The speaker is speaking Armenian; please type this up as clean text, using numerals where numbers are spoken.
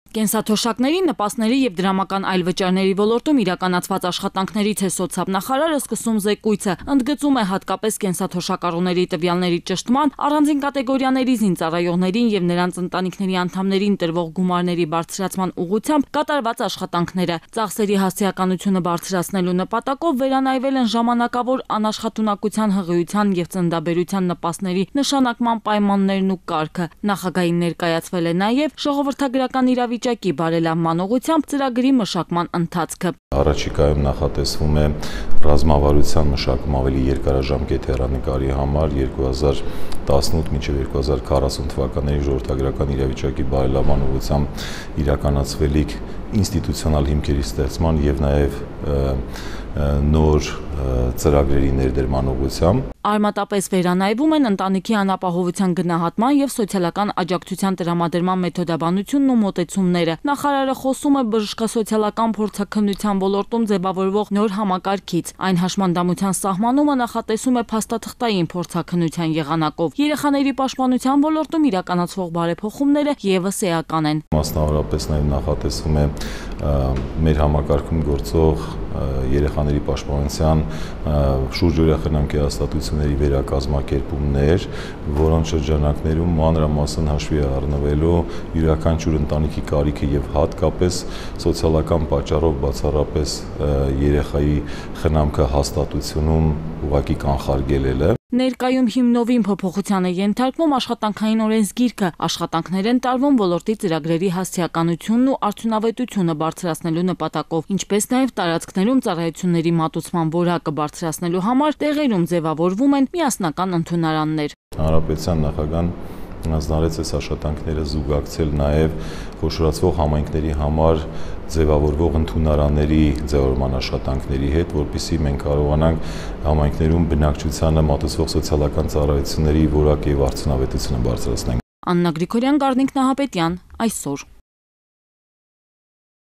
Կենսաթոշակների, նպաստների և դրամական այլ վճարների ոլորտում իրականացված աշխատանքներից է սոցիալնախարարը սկսում զեկույցը, ընդգծում է հատկապես կենսաթոշակառուների տվյալների ճշտման, առանձին կատեգորիաների զինծառայողներին և նրանց ընտանիքների անդամներին տրվող գումարների բարձրացման ուղղությամբ կատարված աշխատանքները։ Ծախսերի հասցեականությունը բարձրացնելու նպատակով վերանայվել են ժամանակավոր անաշխատունակության հղիության և ծննդաբերության նպաստների նշանակման պայմաններն ու կարգը։ Նախագահին ներկայացվել է նաև ժողովրդագրական իրավիճակի բարելավման ուղղությամբ ծրագրի մշակման ընթացքը։ Առաջիկայում նախատեսվում է ռազմավարության մշակում ավելի երկարաժամկետ հեռանկարի համար 2018 մինչև 2040 թվականների ժողովրդագրական իրավիճակի բարելավման ուղղությամբ իրականացվելիք ինստիտուցիոնալ հիմքերի ստեղծման և նաև նոր ծրագրերի ներդրման ուղղությամբ։ Արմատապես վերանայվում են ընտանիքի անապահովության գնահատման և սոցիալական աջակցության տրամադրման մեթոդաբանությունն ու մոտեցումները։ Նախարարը խոսում է բժշկասոցիալական փորձաքննության ոլորտում ձևավորվող նոր համակարգից։ Այն հաշմանդամության սահմանումը նախատեսում է փաստաթղթային փորձաքննության եղանակով։ Երեխաների պաշտպանության ոլորտում իրականացվող բարեփոխումները ևս էական են։ Մասնավորապես նաև նախատեսվում է մեր համակարգում գործող երեխաների պաշտպանության շուրջօրյա խնամքի հաստատությունների վերակազմակերպումներ, որոնց շրջանակներում մանրամասն հաշվի է առնվելու յուրաքանչյուր ընտանիքի կարիքը եւ հատկապես սոցիալական պատճառով բացառապես երեխայի խնամքը հաստատությունում ուղղակի կանխարգելելը։ Ներկայում հիմնովին փոփոխության է ենթարկվում աշխատանքային օրենսգիրքը, աշխատանքներ են տարվում ոլորտի ծրագրերի հասցեականությունն ու արդյունավետությունը բարձրացնելու նպատակով, ինչպես նաև տարածքներում ծառայությունների մատուցման որակը բարձրացնելու համար տեղերում ձևավորվում են միասնական ընդունարաններ։ Հանրապետության նախագահան հանձնարարեց այս աշխատանքները զուգակցել նաև խոշորացվող համայնքների համար ձևավորվող ընդունարանների ձևավորման աշխատանքների հետ, որպեսզի մենք կարողանանք համայնքներում բնակչությանը մատուցվող սոցիալական ծառայությունների որակը եւ արդյունավետությունը բարձրացնենք։ Աննա Գրիգորյան, Գառնիկ Նահապետյան, այսօր։